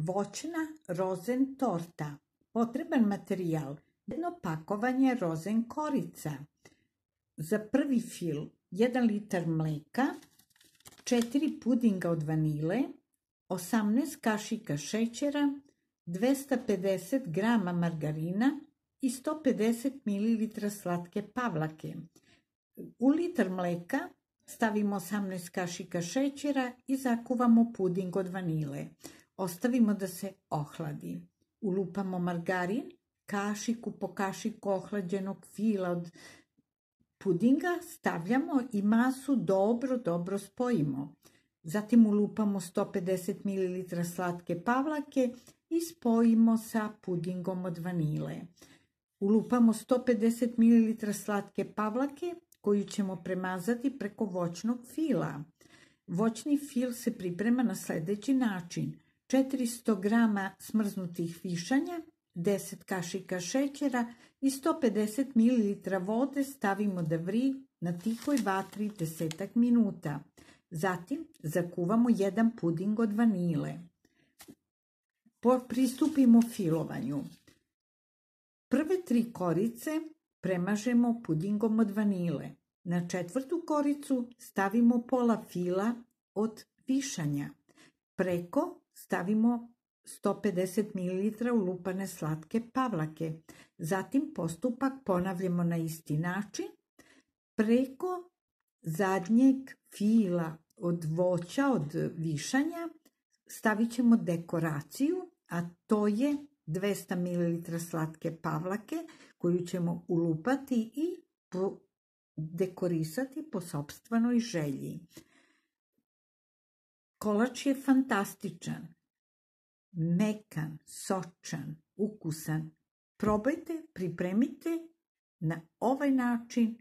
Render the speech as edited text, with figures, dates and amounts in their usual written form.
Voćna rozen torta. Potreban materijal: jedno pakovanje rozen korica. Za prvi fil 1 litar mleka, 4 pudinga od vanile, 18 kašika šećera, 250 grama margarina i 150 ml slatke pavlake. U litar mleka stavimo 18 kašika šećera i zakuvamo puding od vanile. Ostavimo da se ohladi. Ulupamo margarin, kašiku po kašiku ohlađenog fila od pudinga stavljamo i masu dobro spojimo. Zatim ulupamo 150 ml slatke pavlake i spojimo sa pudingom od vanile. Ulupamo 150 ml slatke pavlake koju ćemo premazati preko voćnog fila. Voćni fil se priprema na sljedeći način: 400 grama smrznutih višanja, 10 kašika šećera i 150 ml vode stavimo da vri na tihoj vatri 10 minuta. Zatim zakuvamo 1 puding od vanile. Pristupimo filovanju. Prve 3 korice premažemo pudingom od vanile. Na 4. koricu stavimo pola fila od višanja. Preko stavimo 150 ml ulupane slatke pavlake. Zatim postupak ponavljamo na isti način. Preko zadnjeg fila od voća, od višanja, stavit ćemo dekoraciju, a to je 200 ml slatke pavlake koju ćemo ulupati i dekorisati po sopstvenoj želji. Kolač je fantastičan, mekan, sočan, ukusan. Probajte, pripremite na ovaj način